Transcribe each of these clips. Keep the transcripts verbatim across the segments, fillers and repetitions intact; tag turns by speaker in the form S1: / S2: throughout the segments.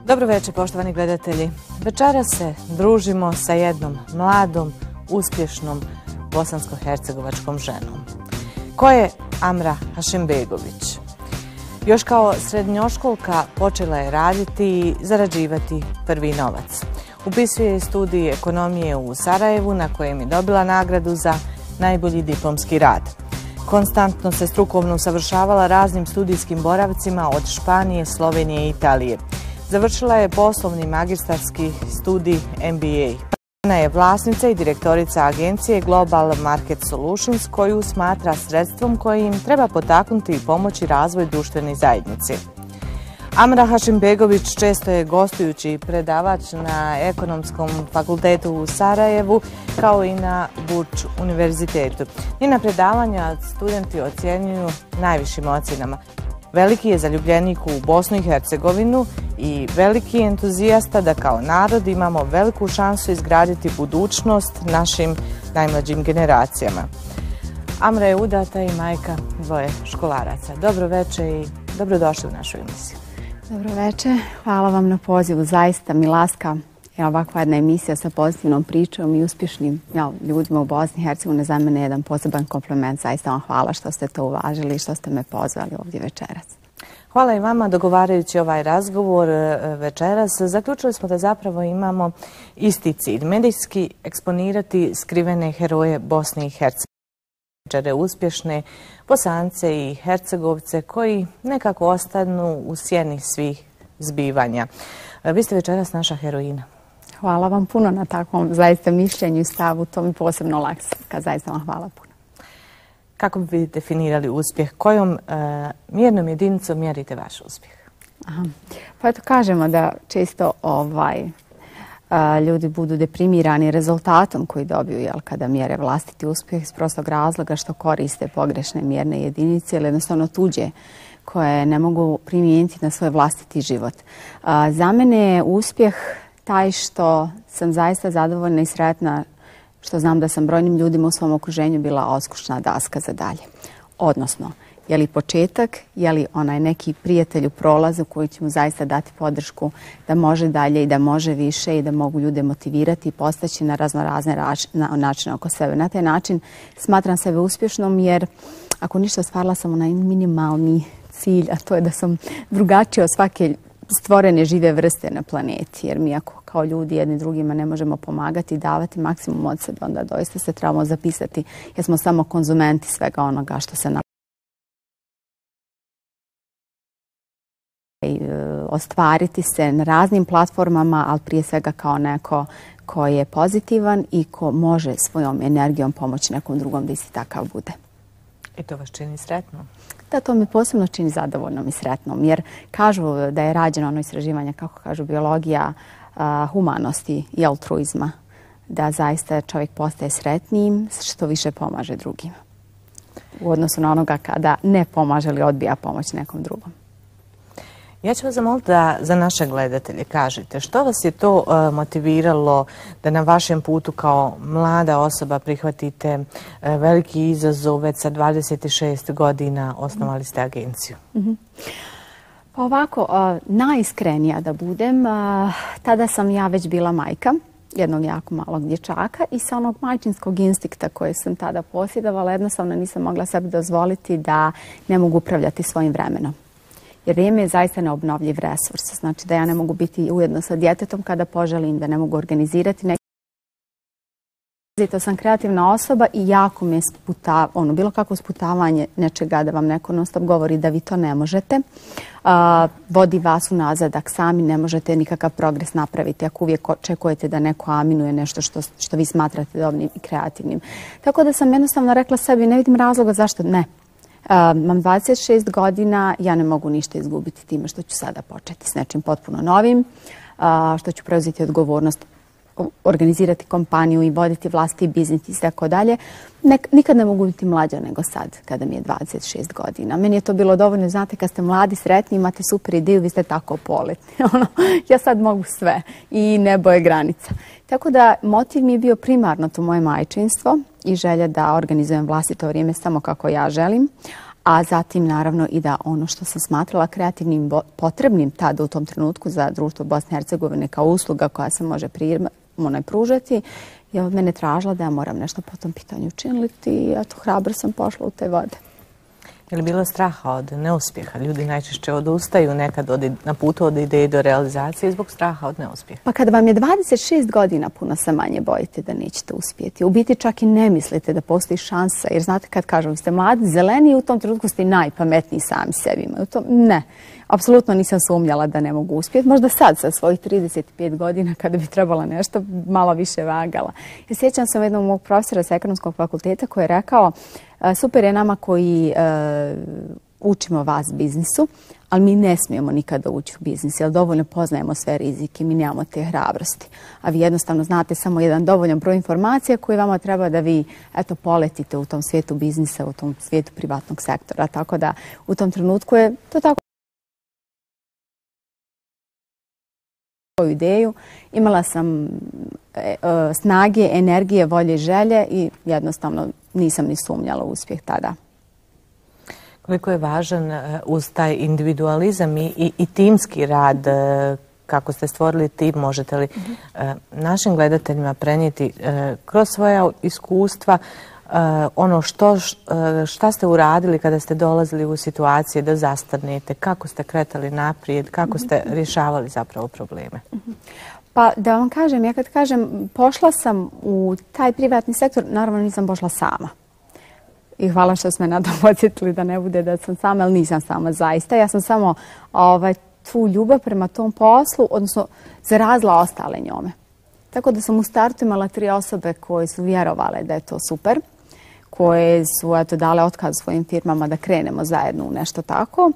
S1: Dobro večer, poštovani gledatelji. Večeras se družimo sa jednom mladom, uspješnom bosansko-hercegovačkom ženom. Ko je Amra Hašimbegović? Još kao srednjoškolka počela je raditi i zarađivati prvi novac. Upisuje studij ekonomije u Sarajevu, na kojem je dobila nagradu za najbolji diplomski rad. Konstantno se strukovno usavršavala raznim studijskim boravcima od Španije, Slovenije i Italije. Završila je poslovni magistarski studij M B A. Ona je vlasnica i direktorica agencije Global Market Solutions, koju smatra sredstvom koje im treba potaknuti i pomoći razvoj društvene zajednice. Amra Hašimbegović često je gostujući predavač na Ekonomskom fakultetu u Sarajevu, kao i na Burč univerzitetu. Njena predavanja studenti ocjenjuju najvišim ocjenama. Veliki je zaljubljenik u Bosnu i Hercegovinu i veliki entuzijasta da kao narod imamo veliku šansu izgraditi budućnost našim najmlađim generacijama. Amra je udata i majka dvoje školaraca. Dobro večer i dobrodošli u našu emisiju.
S2: Dobro večer, hvala vam na pozivu. Zaista mi laska je ovakva jedna emisija sa pozitivnom pričom i uspješnim jel, ljudima u Bosni i Hercegovini. Za mene je jedan poseban kompliment. Zaista vam hvala što ste to uvažili i što ste me pozvali ovdje večeras.
S1: Hvala i vama. Dogovarajući ovaj razgovor večeras, zaključili smo da zapravo imamo isti cilj. Medijski eksponirati skrivene heroje Bosne i Hercegovine, uspješne Bosance i Hercegovce koji nekako ostanu u sjeni svih zbivanja. Vi ste večeras naša heroina.
S2: Hvala vam puno na takvom zaista mišljenju i stavu. To mi posebno laksa. Zaista vam hvala puno.
S1: Kako bi vi definirali uspjeh? Kojom uh, mjernom jedinicom mjerite vaš uspjeh?
S2: Aha. Pa eto kažemo da često ovaj, uh, ljudi budu deprimirani rezultatom koji dobiju jel, kada mjere vlastiti uspjeh iz prostog razloga što koriste pogrešne mjerne jedinice ili jednostavno tuđe koje ne mogu primijeniti na svoj vlastiti život. Uh, za mene je uspjeh taj što sam zaista zadovoljna i sretna što znam da sam brojnim ljudima u svom okruženju bila oskušna daska za dalje. Odnosno, je li početak, je li onaj neki prijatelj u prolazu koji će mu zaista dati podršku da može dalje i da može više i da mogu ljude motivirati i postaći na raznorazne načine oko sebe. Na taj način smatram sebe uspješnom jer ako ništa ostvarila sam onaj minimalni cilj, a to je da sam drugačija od svake stvorene žive vrste na planeti, jer mi ako kao ljudi jedni drugima ne možemo pomagati i davati maksimum od sebe, onda doista se trebamo zapisati jer smo samo konzumenti svega onoga što se nam ostvariti se na raznim platformama, ali prije svega kao neko ko je pozitivan i ko može svojom energijom pomoći nekom drugom da isti takav bude.
S1: I to vas čini sretnom?
S2: Da, to me posebno čini zadovoljnom i sretnom, jer kažu da je rađeno ono istraživanje, kako kažu, biologija uh, humanosti i altruizma, da zaista čovjek postaje sretnijim što više pomaže drugima. U odnosu na onoga kada ne pomaže ili odbija pomoć nekom drugom.
S1: Ja ću vas zamoliti da za naše gledatelje kažete što vas je to uh, motiviralo da na vašem putu kao mlada osoba prihvatite uh, veliki izazov, već sa dvadeset šest godina osnovali ste agenciju?
S2: Mm-hmm. Pa ovako, uh, najiskrenija da budem, uh, tada sam ja već bila majka jednog jako malog dječaka i sa onog majčinskog instinkta koje sam tada posjedovala, jednostavno nisam mogla sebi dozvoliti da ne mogu upravljati svojim vremenom. Jer vrijeme je zaista neobnovljiv resurs. Znači da ja ne mogu biti ujedno sa djetetom kada poželim, da ne mogu organizirati neki. To sam kreativna osoba i jako me sputa, ono, bilo kako sputavanje nečega da vam neko non stop govori da vi to ne možete. Uh, vodi vas u nazadak, sami ne možete nikakav progres napraviti ako uvijek očekujete da neko aminuje nešto što, što vi smatrate dobrim i kreativnim. Tako da sam jednostavno rekla sebi, ne vidim razloga zašto ne. Uh, mam dvadeset šest godina, ja ne mogu ništa izgubiti time što ću sada početi s nečim potpuno novim, uh, što ću preuzeti odgovornost, organizirati kompaniju i voditi vlastiti biznis i tako dalje. Nikad ne mogu biti mlađa nego sad, kada mi je dvadeset šest godina. Meni je to bilo dovoljno, znate, kad ste mladi, sretni, imate super ideju, vi ste tako poletni. Ja sad mogu sve i nebo je granica. Tako da motiv mi je bio primarno to moje majčinstvo i želja da organizujem vlastito vrijeme samo kako ja želim. a zatim naravno i da ono što sam smatrala kreativnim potrebnim tada u tom trenutku za društvo Bosne i Hercegovine kao usluga koja se može primano pružati, je od mene tražila da ja moram nešto po tom pitanju učiniti i eto, hrabro sam pošla u te vode.
S1: Je li bilo straha od neuspjeha? Ljudi najčešće odustaju nekad od, na putu od ideje do realizacije zbog straha od neuspjeha.
S2: Pa kada vam je dvadeset šest godina, puno se manje bojite da nećete uspjeti. U biti čak i ne mislite da postoji šansa, jer znate kad kažem, vi ste mladi, zeleni i u tom trenutku ste najpametniji sami sebi. U tom, ne, apsolutno nisam sumnjala da ne mogu uspjeti. Možda sad sa svojih trideset pet godina kada bi trebala nešto malo više vagala. Ja sjećam se jednog mog profesora sa ekonomskog fakulteta koji je rekao super je nama koji uh, učimo vas biznisu, ali mi ne smijemo nikada ući u biznis, jer dovoljno poznajemo sve rizike, mi nemamo te hrabrosti. A vi jednostavno znate samo jedan dovoljan broj informacija koji vama treba da vi eto, poletite u tom svijetu biznisa, u tom svijetu privatnog sektora. Tako da u tom trenutku je to tako ideju. Imala sam e, e, snage, energije, volje i želje i jednostavno nisam ni sumnjala u uspjeh tada.
S1: Koliko je važan uz taj individualizam i, i, i timski rad, kako ste stvorili tim, možete li mm-hmm. našim gledateljima prenijeti kroz svoja iskustva ono što, šta ste uradili kada ste dolazili u situacije da zastanete, kako ste kretali naprijed, kako ste rješavali zapravo probleme?
S2: Pa da vam kažem, ja kad kažem pošla sam u taj privatni sektor, naravno nisam pošla sama. I hvala što ste me nadam podsjetili da ne bude da sam sama, ali nisam sama zaista. Ja sam samo ovaj, tu ljubav prema tom poslu, odnosno zarazila ostale njome. Tako da sam u startu imala tri osobe koje su vjerovale da je to super, koje su eto, dale otkaz svojim firmama da krenemo zajedno u nešto tako.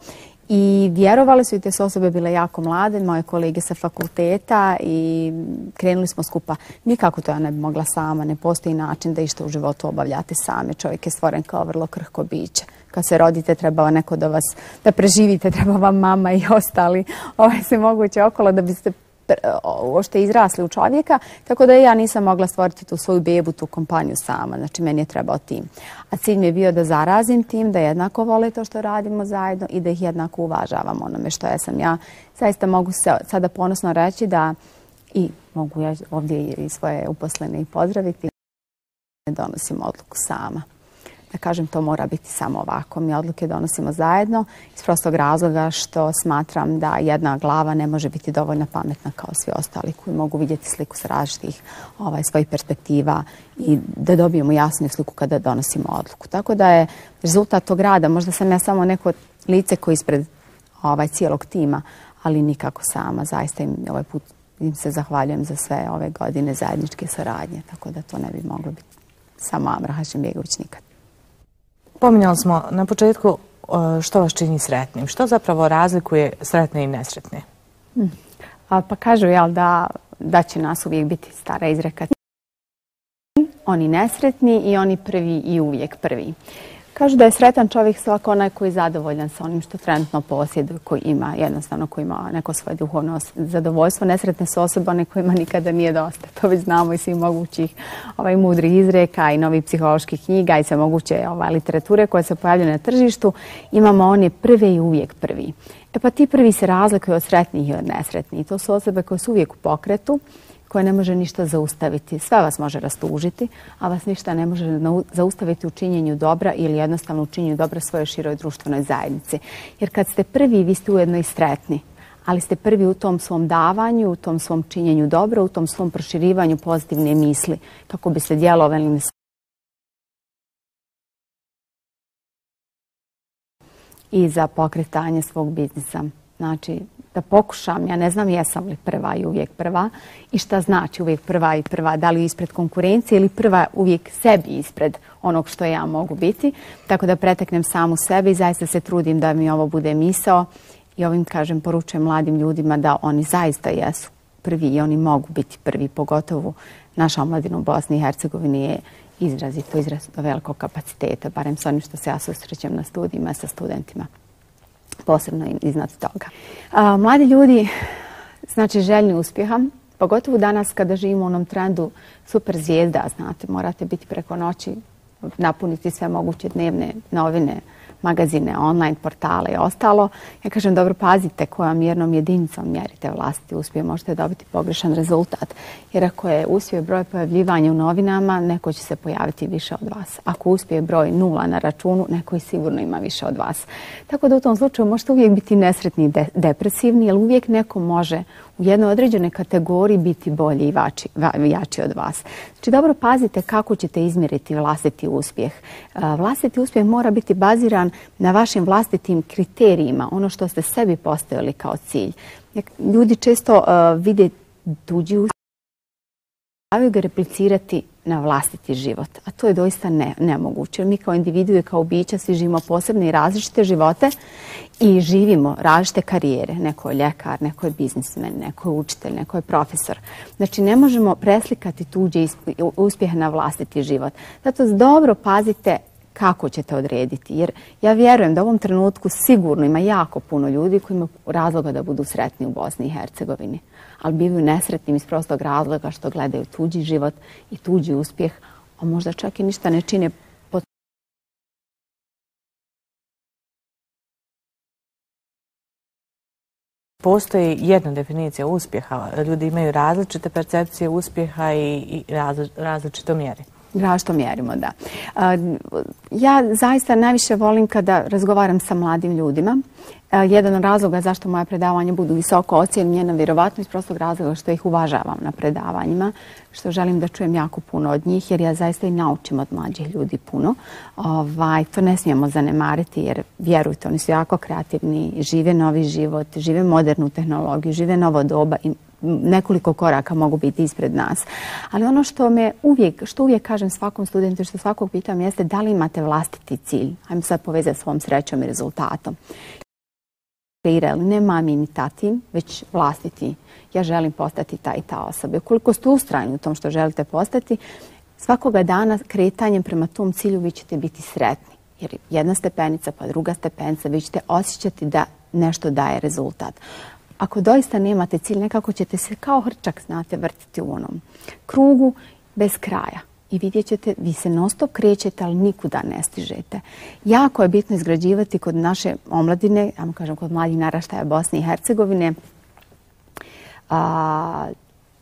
S2: I vjerovali su i te su osobe bile jako mlade, moje kolege sa fakulteta i krenuli smo skupa. Nikako to ja ne bi mogla sama, ne postoji način da išta u životu obavljate same. Čovjek je stvoren kao vrlo krhko biće. Kad se rodite treba neko da vas, da preživite, treba vam mama i ostali ovaj, se moguće okolo da biste uopšte izrasli u čovjeka, tako da ja nisam mogla stvoriti tu svoju bebu, tu kompaniju sama. Znači, meni je trebao tim. A cilj mi je bio da zarazim tim, da jednako vole to što radimo zajedno i da ih jednako uvažavam onome što ja sam ja. Zaista mogu se sada ponosno reći da i mogu ja ovdje i svoje uposlene i pozdraviti, ne donosim odluku sama. Da kažem, to mora biti samo ovako. Mi odluke donosimo zajedno iz prostog razloga što smatram da jedna glava ne može biti dovoljno pametna kao svi ostali koji mogu vidjeti sliku s različitih ovaj, svojih perspektiva i da dobijemo jasnu sliku kada donosimo odluku. Tako da je rezultat tog rada, možda sam ja samo neko lice koji ispred ovaj, cijelog tima, ali nikako sama. Zaista im ovaj put im se zahvaljujem za sve ove godine zajedničke saradnje, tako da to ne bi moglo biti samo Amra Hašimbegović nikad.
S1: Pominjali smo na početku što vas čini sretnim. Što zapravo razlikuje sretne i nesretne?
S2: Hmm. A, pa kažu jel, da, da će nas uvijek biti stara izreka. Oni nesretni i oni prvi i uvijek prvi. Kažu da je sretan čovjek svako onaj koji je zadovoljan sa onim što trenutno posjeduje, koji ima jednostavno, koji ima neko svoje duhovno zadovoljstvo. Nesretne su osobe one kojima nikada nije dosta. To već znamo i svih mogućih ovaj, mudrih izreka i novih psiholoških knjiga i sve moguće ovaj, literature koje se pojavljaju na tržištu. Imamo one prve i uvijek prvi. E pa ti prvi se razlikuju od sretnih i od nesretnih. To su osobe koje su uvijek u pokretu, koje ne može ništa zaustaviti. Sve vas može rastužiti, a vas ništa ne može zaustaviti u činjenju dobra ili jednostavno u činjenju dobra svojoj široj društvenoj zajednici. Jer kad ste prvi, vi ste ujedno i sretni, ali ste prvi u tom svom davanju, u tom svom činjenju dobra, u tom svom proširivanju pozitivne misli, kako bi se djelovali i za pokretanje svog biznisa. Znači, da pokušam, ja ne znam jesam li prva i uvijek prva i šta znači uvijek prva i prva, da li ispred konkurencije ili prva uvijek sebi ispred onog što ja mogu biti. Tako da preteknem samu sebe i zaista se trudim da mi ovo bude misao i ovim, kažem, poručujem mladim ljudima da oni zaista jesu prvi i oni mogu biti prvi, pogotovo naša omladina u Bosni i Hercegovini je izrazito, izrazito velikog kapaciteta, barem sa onim što se ja susrećem na studijima sa studentima. Posebno iznad toga. A, mladi ljudi, znači željni uspjeha, pogotovo danas kada živimo u onom trendu super zvijezda, znate, morate biti preko noći, napuniti sve moguće dnevne novine, magazine, online portale i ostalo. Ja kažem, dobro, pazite kojom mjernom jedinicom mjerite vlastiti uspjeh, možete dobiti pogrešan rezultat. Jer ako je uspjeh broj pojavljivanja u novinama, neko će se pojaviti više od vas. Ako uspjeh broj nula na računu, neko i sigurno ima više od vas. Tako da u tom slučaju možete uvijek biti nesretni i de depresivni, jer uvijek neko može u jednoj određenoj kategoriji biti bolji i vači, va, jači od vas. Znači, dobro pazite kako ćete izmjeriti vlastiti uspjeh. Vlastiti uspjeh mora biti baziran na vašim vlastitim kriterijima, ono što ste sebi postavili kao cilj. Ljudi često uh, vide tuđi uspjeh, trebaju ga replicirati na vlastiti život, a to je doista ne, nemoguće. Mi kao individue, kao bića, svi živimo posebne i različite živote i živimo različite karijere. Neko je ljekar, neko je biznismen, neko je učitelj, neko je profesor. Znači, ne možemo preslikati tuđe uspjehe na vlastiti život. Zato dobro pazite kako ćete odrediti, jer ja vjerujem da u ovom trenutku sigurno ima jako puno ljudi koji imaju razloga da budu sretni u Bosni i Hercegovini, ali bivaju nesretnim iz prostog razloga što gledaju tuđi život i tuđi uspjeh, a možda čak i ništa ne čine.
S1: Postoji jedna definicija uspjeha. Ljudi imaju različite percepcije uspjeha i, i različito mjeri.
S2: Različito mjerimo, da. Ja zaista najviše volim kada razgovaram sa mladim ljudima. Jedan od razloga zašto moja predavanja budu visoko ocijenjena, vjerovatno iz prostog razloga što ih uvažavam na predavanjima, što želim da čujem jako puno od njih, jer ja zaista i naučim od mlađih ljudi puno. Ovaj, to ne smijemo zanemariti, jer vjerujte, oni su jako kreativni, žive novi život, žive modernu tehnologiju, žive novo doba i nekoliko koraka mogu biti ispred nas. Ali ono što me uvijek, što uvijek kažem svakom studentu, što svakog pitam, jeste da li imate vlastiti cilj. Ajmo sad povezati s svom srećom i rezultatom. Kreirali ne mami ni tati, već vlastiti. Ja želim postati ta i ta osoba. Ukoliko ste ustrajni u tom što želite postati, svakoga dana kretanjem prema tom cilju vi ćete biti sretni. Jer jedna stepenica pa druga stepenica, vi ćete osjećati da nešto daje rezultat. Ako doista nemate cilj, nekako ćete se kao hrčak, znate, vrtiti u onom krugu bez kraja. I vidjet ćete, vi se non stop krećete, ali nikuda ne stižete. Jako je bitno izgrađivati kod naše omladine, ja mu kažem kod mladih naraštaja Bosne i Hercegovine, a,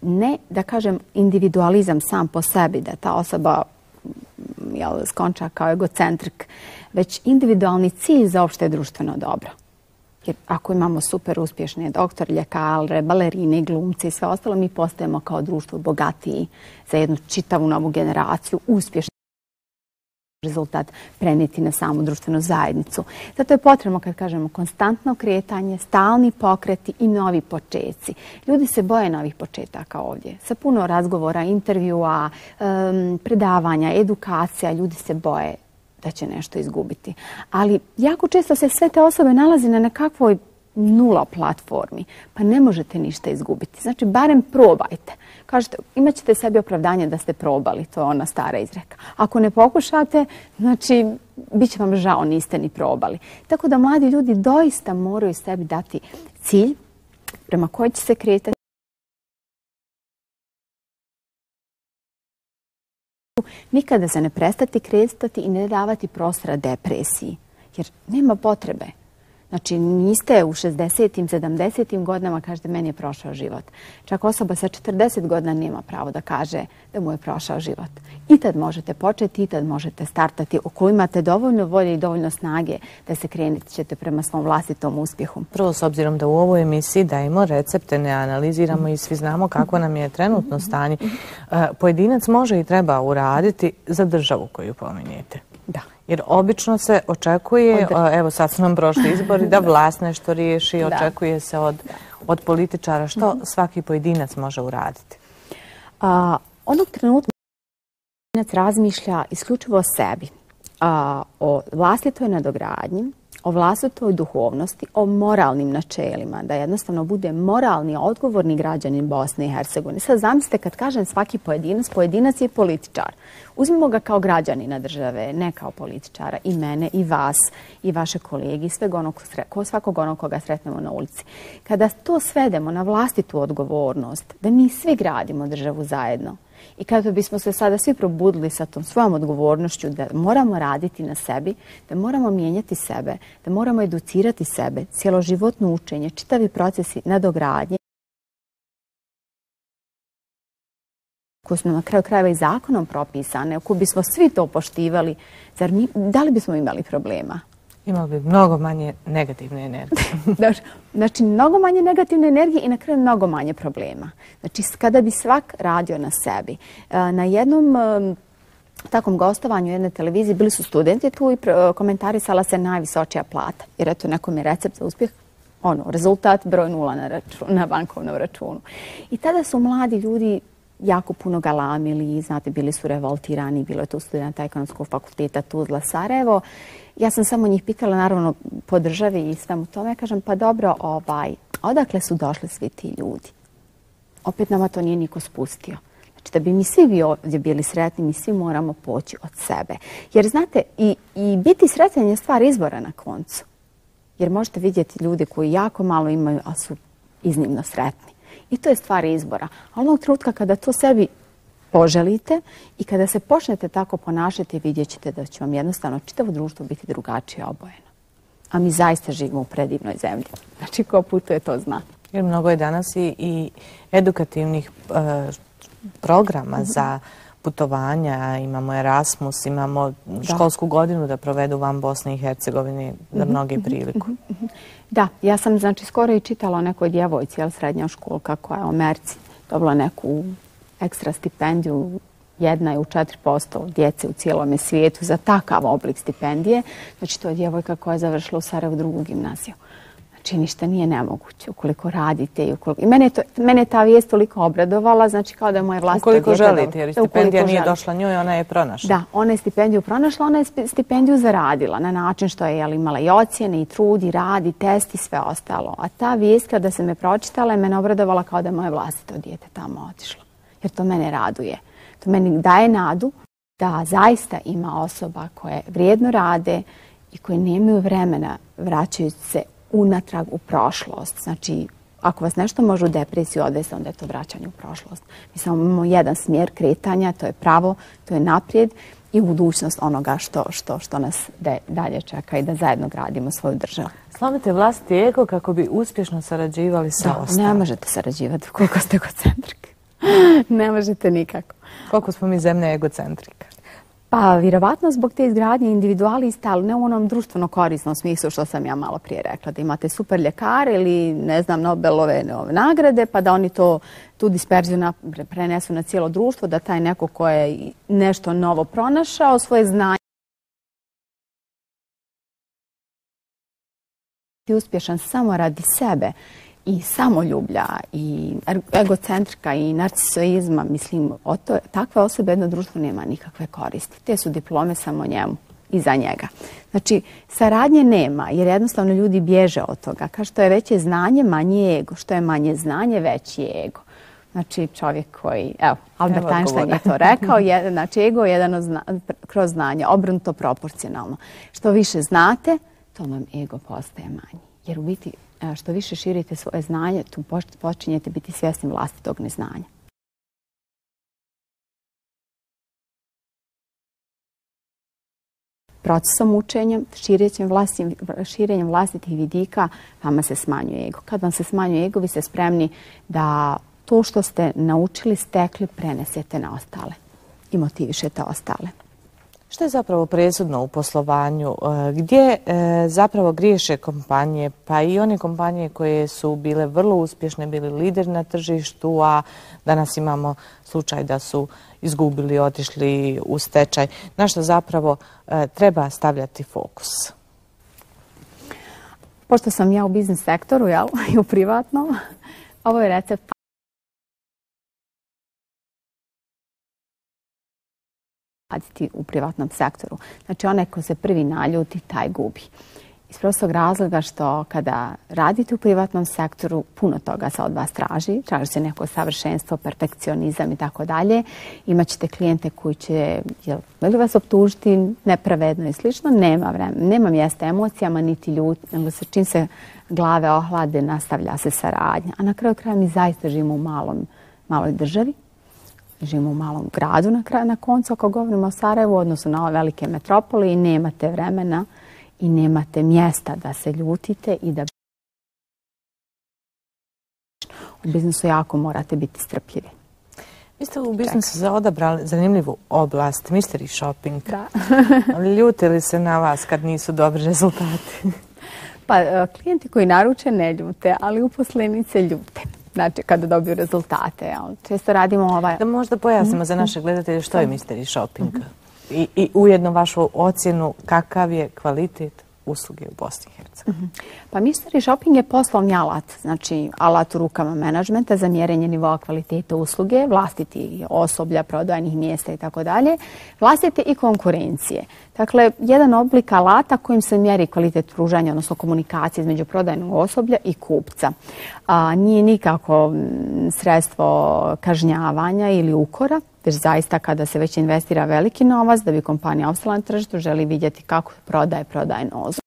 S2: ne, da kažem, individualizam sam po sebi, da ta osoba jel, skonča kao egocentrik, već individualni cilj za opšte društveno dobro. Jer ako imamo super uspješne doktor, ljekare, balerine, glumce i sve ostalo, mi postajemo kao društvo bogatiji za jednu čitavu novu generaciju, uspješni rezultat prenijeti na samu društvenu zajednicu. Zato je potrebno, kad kažemo, konstantno kretanje, stalni pokreti i novi početci. Ljudi se boje novih početaka ovdje. Sa puno razgovora, intervjua, um, predavanja, edukacija, ljudi se boje da će nešto izgubiti. Ali jako često se sve te osobe nalazi na nekakvoj nula platformi, pa ne možete ništa izgubiti. Znači, barem probajte. Kažete, imat ćete sebi opravdanje da ste probali, to je ona stara izreka. Ako ne pokušate, znači, bit će vam žao, niste ni probali. Tako da mladi ljudi doista moraju sebi dati cilj prema koji će se kretati. Nikada se ne prestati kretati i ne davati prostora depresiji, jer nema potrebe. Znači, niste u šezdesetim, sedamdesetim godinama, kažete, meni je prošao život. Čak osoba sa četrdeset godina nema pravo da kaže da mu je prošao život. I tad možete početi, i tad možete startati. Ako imate dovoljno volje i dovoljno snage da se krenete ćete prema svom vlastitom uspjehu.
S1: Prvo, s obzirom da u ovoj emisiji dajemo recepte, ne analiziramo i svi znamo kako nam je trenutno stanje, pojedinac može i treba uraditi za državu koju pominjete.
S2: Da.
S1: Jer obično se očekuje, evo sad su nam prošli izbori, da vlast nešto riješi, očekuje se od, od političara. Što svaki pojedinac može uraditi?
S2: A, onog trenutka pojedinac razmišlja isključivo o sebi, a, o vlastitoj nadogradnji, o vlastitoj duhovnosti, o moralnim načelima, da jednostavno bude moralni, odgovorni građanin Bosne i Hercegovine. Sad zamislite kad kažem svaki pojedinac, pojedinac je političar. Uzmimo ga kao građanina države, ne kao političara, i mene, i vas, i vaše kolege, i sveg onog, svakog onog koga sretnemo na ulici. Kada to svedemo na vlastitu odgovornost, da mi svi gradimo državu zajedno, I kada bismo se sada svi probudili sa tom svojom odgovornošću da moramo raditi na sebi, da moramo mijenjati sebe, da moramo educirati sebe, cjeloživotno učenje, čitavi procesi nadogradnje, koji su na kraju krajeva i zakonom propisane, ako bismo svi to poštivali, zar mi, da li bismo imali problema?
S1: Imali bi mnogo manje negativne energije.
S2: Znači, mnogo manje negativne energije i na kraju mnogo manje problema. Znači, kada bi svak radio na sebi. Na jednom takvom gostovanju jedne televizije bili su studenti tu i komentarisala se najvisočija plata. Jer eto, nekom je recept za uspjeh, ono, rezultat broj nula na, račun, na bankovnom računu. I tada su mladi ljudi jako puno galamili, znate, bili su revoltirani, bilo je tu studenta ekonomskog fakulteta Tuzla, Sarajevo. Ja sam samo njih pitala, naravno, po državi i svemu tome. Ja kažem, pa dobro, ovaj, odakle su došli svi ti ljudi? Opet nama to nije niko spustio. Znači, da bi mi svi bi ovdje bili sretni, mi svi moramo poći od sebe. Jer, znate, i, i biti sretan je stvar izbora na koncu. Jer možete vidjeti ljude koji jako malo imaju, a su iznimno sretni. I to je stvar izbora. A onog trenutka kada to sebi poželite i kada se počnete tako ponašati, vidjet ćete da će vam jednostavno čitavo društvo biti drugačije obojeno. A mi zaista živimo u predivnoj zemlji. Znači, ko putuje, to zna.
S1: Jer mnogo je danas i, i edukativnih e, programa mm-hmm. za putovanja. Imamo Erasmus, imamo da. školsku godinu da provedu van Bosne i Hercegovine za mm-hmm. mnoge priliku.
S2: Mm-hmm. Da, ja sam znači skoro i čitala o nekoj djevojci, jel, srednja školka koja je u Americi dobila neku ekstra stipendiju, jedna je u četiri posto djece u cijelom svijetu za takav oblik stipendije. Znači, to je djevojka koja je završila u Sarajevu drugu gimnaziju. Znači, ništa nije nemoguće ukoliko radite. I, ukoliko... I mene, je to, mene je ta vijest toliko obradovala, znači kao da je moje vlastito
S1: ukoliko
S2: djete...
S1: Ukoliko želite, jer stipendija nije želite. došla njoj, ona je pronašla.
S2: Da, ona je stipendiju pronašla, ona je stipendiju zaradila na način što je jel, imala i ocjene, i trud, i rad, i test, i sve ostalo. A ta vijest, kada se me pročitala, je mene obradovala kao da je moje vlastito djete tamo otišlo. Jer to mene raduje. To meni daje nadu da zaista ima osoba koje vrijedno rade i koje nemaju vremena vraćajući se unatrag u prošlost. Znači, ako vas nešto može u depresiju odvesti, onda je to vraćanje u prošlost. Mi samo imamo jedan smjer kretanja, to je pravo, to je naprijed i budućnost onoga što, što, što nas de, dalje čeka i da zajedno gradimo svoju državu.
S1: Slomite vlastiti ego kako bi uspješno sarađivali sa
S2: da,
S1: ostalim.
S2: Ne možete sarađivati koliko ste egocentrike. Ne možete nikako.
S1: Koliko smo mi zemlja egocentrika?
S2: Pa, vjerovatno zbog te izgradnje individualista, ali ne u onom društveno korisnom smislu što sam ja malo prije rekla, da imate super ljekare ili, ne znam, Nobelove nagrade, pa da oni to, tu disperziju na, prenesu na cijelo društvo, da taj neko ko je nešto novo pronašao, svoje znanje i uspješan samo radi sebe i samoljublja i egocentrika i narcisoizma, mislim, o to, takve osobe jedno društvo nema nikakve koristi. Te su diplome samo njemu i za njega. Znači, saradnje nema, jer jednostavno ljudi bježe od toga. Kao što je veće znanje, manje ego. Što je manje znanje, veći je ego. Znači, čovjek koji, evo, Albert Einstein je to rekao, je, znači, ego je jedan zna, kroz znanje, obrnuto proporcionalno. Što više znate, to vam ego postaje manji. Jer u biti, što više širite svoje znanje, tu počinjete biti svjesni vlastitog neznanja. Procesom učenja, širenjem, vlastim, širenjem vlastitih vidika, vama se smanjuje ego. Kad vam se smanjuje ego, vi ste spremni da to što ste naučili, stekli, prenesete na ostale i motivišete ostale.
S1: Što je zapravo presudno u poslovanju? Gdje zapravo griješe kompanije, pa i one kompanije koje su bile vrlo uspješne, bili lideri na tržištu, a danas imamo slučaj da su izgubili, otišli u stečaj. Na što zapravo treba stavljati fokus?
S2: Pošto sam ja u biznis sektoru, jel, i u privatnom, ovo je recept raditi u privatnom sektoru. Znači, onaj ko se prvi naljuti, taj gubi. Iz prostog razloga što kada radite u privatnom sektoru, puno toga se od vas traži. Traži se neko savršenstvo, perfekcionizam i tako dalje. Imaćete klijente koji će jel, vas optužiti nepravedno i slično. Nema vremena, nema mjesta emocijama, niti ljut, nego se čim se glave ohlade, nastavlja se saradnja. A na kraju kraja mi zaista živimo u malom, maloj državi. živimo u malom gradu na, kraju, na koncu, ako govorimo o Sarajevu, u odnosu na ove velike metropole i nemate vremena i nemate mjesta da se ljutite i da u biznisu jako morate biti strpljivi.
S1: Vi ste u biznisu za odabrali zanimljivu oblast, mystery shopping.
S2: Da.
S1: Ljute li se na vas kad nisu dobri rezultati?
S2: Pa klijenti koji naruče ne ljute, ali uposlenice ljute. Znači, kada dobiju rezultate. Često radimo ovaj...
S1: Da možda pojasnimo za naše gledatelje što je mystery shopping i, i ujedno vašu ocjenu kakav je kvalitet usluge u Bosni i Hercegovini.
S2: Pa mystery shopping je poslovni alat, znači alat u rukama menadžmenta za mjerenje nivoa kvaliteta usluge, vlastiti osoblja, prodajnih mjesta i tako dalje, vlastite i konkurencije. Dakle, jedan oblik alata kojim se mjeri kvalitet pružanja, odnosno komunikacije između prodajnog osoblja i kupca. A, nije nikako sredstvo kažnjavanja ili ukora, već zaista kada se već investira veliki novac da bi kompanija opstala na tržištu, želi vidjeti kako prodaje prodajnu osobu.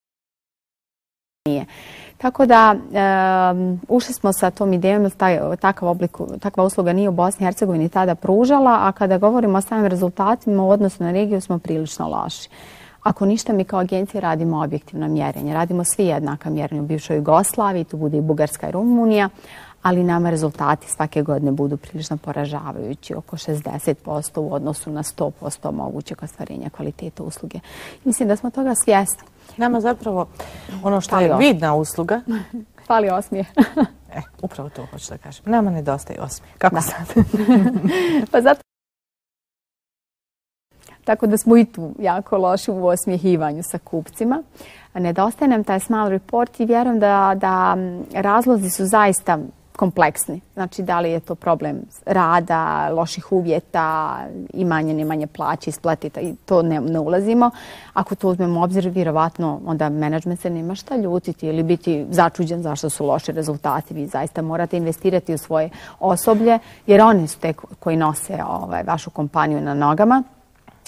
S2: Tako da um, ušli smo sa tom idejom da taj, takav oblik, takva usluga nije u Bosni i Hercegovini tada pružala, a kada govorimo o samim rezultatima u odnosu na regiju smo prilično loši. Ako ništa, mi kao agencija radimo objektivno mjerenje. Radimo svi jednaka mjerenja u bivšoj Jugoslaviji, tu bude i Bugarska i Rumunija, ali nama rezultati svake godine budu prilično poražavajući, oko šezdeset posto u odnosu na sto posto mogućeg ostvarenja kvaliteta usluge. Mislim da smo toga svjesni.
S1: Nama zapravo ono što je vidna usluga...
S2: Fali osmijeh.
S1: E, upravo to hoću da kažem. Nama nedostaje osmijeh. Kako
S2: da.
S1: sad?
S2: Pa zato... Tako da smo i tu jako loši u osmjehivanju sa kupcima. Nedostaje nam taj small report i vjerujem da, da razlozi su zaista kompleksni. Znači, da li je to problem rada, loših uvjeta, imanje, nemanje plaće, isplatita i to ne, ne ulazimo. Ako to uzmemo u obzir, vjerovatno onda menadžment se nema šta ljutiti ili biti začuđen zašto su loši rezultati. Vi zaista morate investirati u svoje osoblje jer oni su te koji nose ovaj, vašu kompaniju na nogama.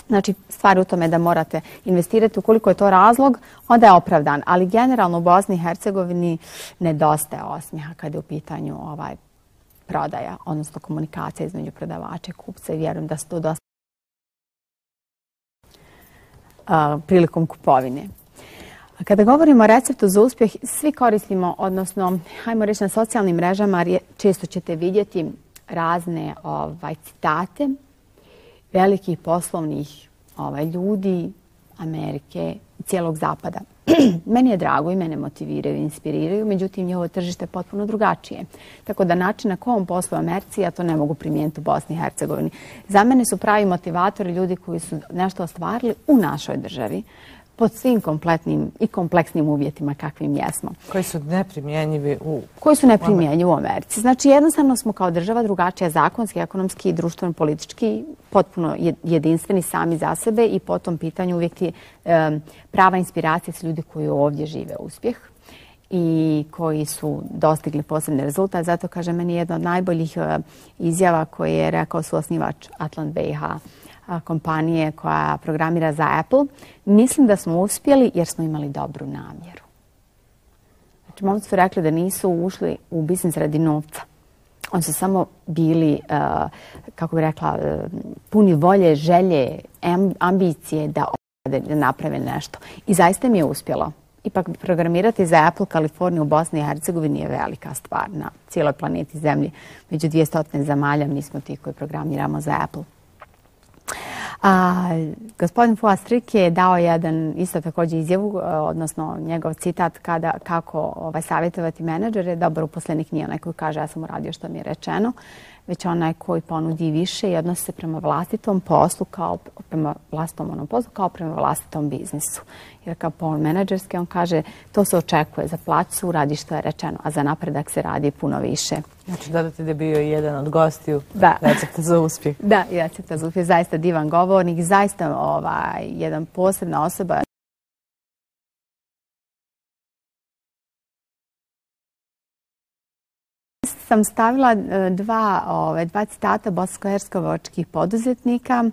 S2: Znači, stvar u tome da morate investirati ukoliko je to razlog, onda je opravdan. Ali generalno u Bosni i Hercegovini nedostaje osmijeha kada je u pitanju ovaj prodaja, odnosno komunikacija između prodavača i kupca i vjerujem da se to dosta uh, prilikom kupovine. Kada govorimo o receptu za uspjeh, svi koristimo, odnosno, hajmo reći na socijalnim mrežama, često ćete vidjeti razne ovaj, citate velikih poslovnih ovaj, ljudi Amerike, cijelog zapada. Meni je drago i mene motiviraju i inspiriraju, međutim njihovo tržište je potpuno drugačije. Tako da način na kom poslu u Americi, ja to ne mogu primijeniti u Bosni i Hercegovini. Za mene su pravi motivatori ljudi koji su nešto ostvarili u našoj državi, pod svim kompletnim i kompleksnim uvjetima kakvim jesmo.
S1: Koji su neprimjenjivi u...
S2: Koji su neprimjenjivi u Americi. Znači, jednostavno smo kao država drugačija zakonski, ekonomski i društveno politički, potpuno jedinstveni sami za sebe i po tom pitanju uvijek je um, prava inspiracija s ljudi koji ovdje žive uspjeh i koji su dostigli posebne rezultate. Zato, kaže, meni jedna od najboljih uh, izjava koje je rekao suosnivač Atlant B I H kompanije koja programira za Apple. Mislim da smo uspjeli jer smo imali dobru namjeru. Znači, momci su rekli da nisu ušli u biznis radi novca. Oni su samo bili, uh, kako bih rekla, uh, puni volje, želje, ambicije da, da naprave nešto. I zaista mi je uspjelo. Ipak programirati za Apple Kaliforniju u Bosni i Hercegovini je velika stvar na cijeloj planeti Zemlji. Među dvjesto zemalja mi smo ti koji programiramo za Apple. A, gospodin Fuad Strik je dao jedan isto također izjavu, odnosno njegov citat kada, kako ovaj, savjetovati menadžere. Dobar uposlenik nije onaj koji kaže ja sam uradio što mi je rečeno, već onaj koji ponudi više i odnosi se prema vlastitom poslu kao prema vlastitom onom poslu kao prema vlastitom biznisu. Jer kao pol menadžerski on kaže to se očekuje za plaću, radi što je rečeno, a za napredak se radi puno više.
S1: Znači dodate da je bio jedan od gostiju da. Recepta za uspjeh.
S2: Da, i recepta za uspjeh. Zaista divan govornik, zaista ovaj, jedan posebna osoba. Sam stavila dva, ove, dva citata bosansko-hercegovačkih poduzetnika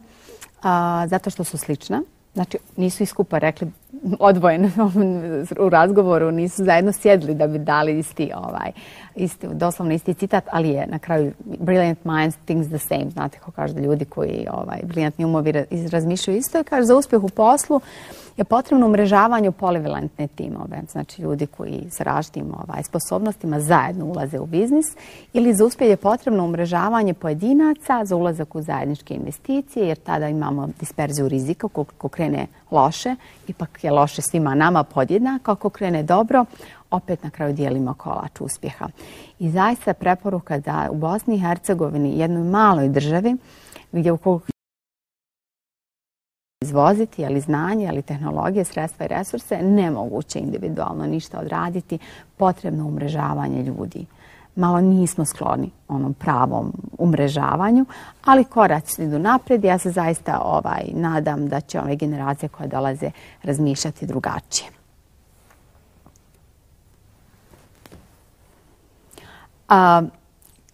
S2: a, zato što su slična. Znači, nisu iskupa rekli odvojen u razgovoru, nisu zajedno sjedli da bi dali isti, ovaj, isti, doslovno isti citat, ali je na kraju brilliant minds thinks the same. Znate ko kaže da ljudi koji ovaj, briljantni umovi razmišljaju isto i kaže za uspjeh u poslu je potrebno umrežavanje u polivalentne timove. Znači ljudi koji s različitim ovaj, sposobnostima zajedno ulaze u biznis ili za uspjeh je potrebno umrežavanje pojedinaca za ulazak u zajedničke investicije jer tada imamo disperziju rizika. Ako krene loše, ipak je loše svima nama podjednako. Ako krene dobro, opet na kraju dijelimo kolač uspjeha. I zaista preporuka da u Bosni i Hercegovini, jednoj maloj državi, gdje ukoliko izvoziti, ali znanje, ali tehnologije, sredstva i resurse, nemoguće individualno ništa odraditi, potrebno umrežavanje ljudi. Malo nismo skloni onom pravom umrežavanju, ali koraci idu naprijed. Ja se zaista ovaj, nadam da će ove generacije koje dolaze razmišljati drugačije. A,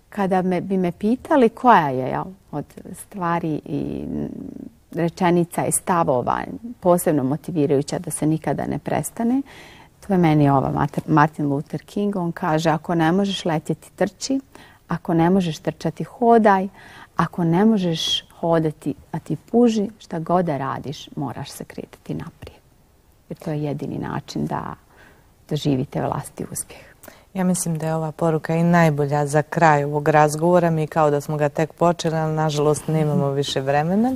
S2: kada me, bi me pitali koja je jel, od stvari i rečenica i stavova posebno motivirajuća da se nikada ne prestane, to je meni ova Martin Luther King. On kaže ako ne možeš letjeti trči, ako ne možeš trčati hodaj, ako ne možeš hodati a ti puži, šta god da radiš moraš se kretati naprijed. Jer to je jedini način da doživite vlastiti uspjeh.
S1: Ja mislim da je ova poruka i najbolja za kraj ovog razgovora. Mi kao da smo ga tek počeli, ali nažalost nemamo više vremena.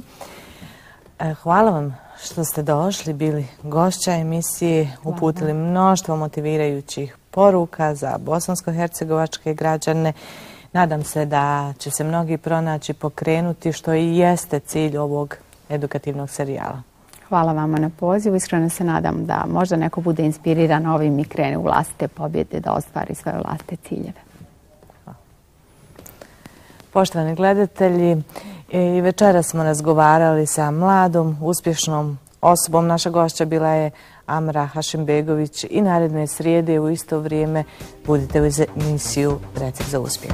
S1: Hvala vam što ste došli, bili gošća emisije, uputili mnoštvo motivirajućih poruka za bosansko-hercegovačke građane. Nadam se da će se mnogi pronaći pokrenuti, što i jeste cilj ovog edukativnog serijala.
S2: Hvala vama na pozivu. Iskreno se nadam da možda neko bude inspiriran ovim i krene u vlastite pobjede da ostvari svoje vlastite ciljeve.
S1: Hvala. Poštovani gledatelji, i večera smo razgovarali sa mladom, uspješnom osobom. Naša gošća bila je Amra Hašimbegović i naredne srijede u isto vrijeme budite uz emisiju Recept za uspjeh.